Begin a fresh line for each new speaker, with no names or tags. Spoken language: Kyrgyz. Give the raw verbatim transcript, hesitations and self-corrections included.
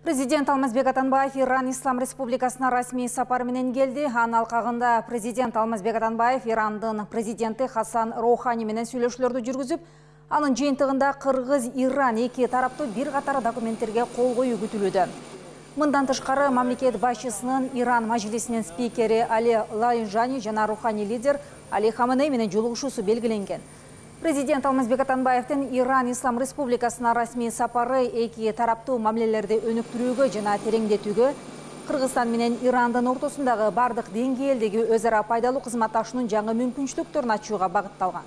Президент Алмазбек Атамбаев Иран Ислам Республикасына расмий сапар менен келди. Анын алкагында президент Алмазбек Атамбаев Ирандын президенти Хасан Роухани менен сүйлөшүүлөрдү жүргүзүп, анын жыйынтыгында Кыргыз-Иран эки тараптуу бир катар документтерге кол коюу күтүлүүдө. Мындан тышкары мамлекет башчысынын Иран мажлисинин спикери Али Лайжани жана руханий лидер Али Хаменей менен жолугушуусу белгиленген. Президент Алмазбек Атамбаевдин Иран Ислам Республикасына расмий сапары эки тараптуу мамилелерди өнүктүрүүгө жана тереңдетүүгө, Кыргызстан менен Ирандын ортосундагы бардык деңгээлдеги өз ара пайдалуу кызматташуунун жаңы мүмкүнчүлүктөрүн ачууга багытталган.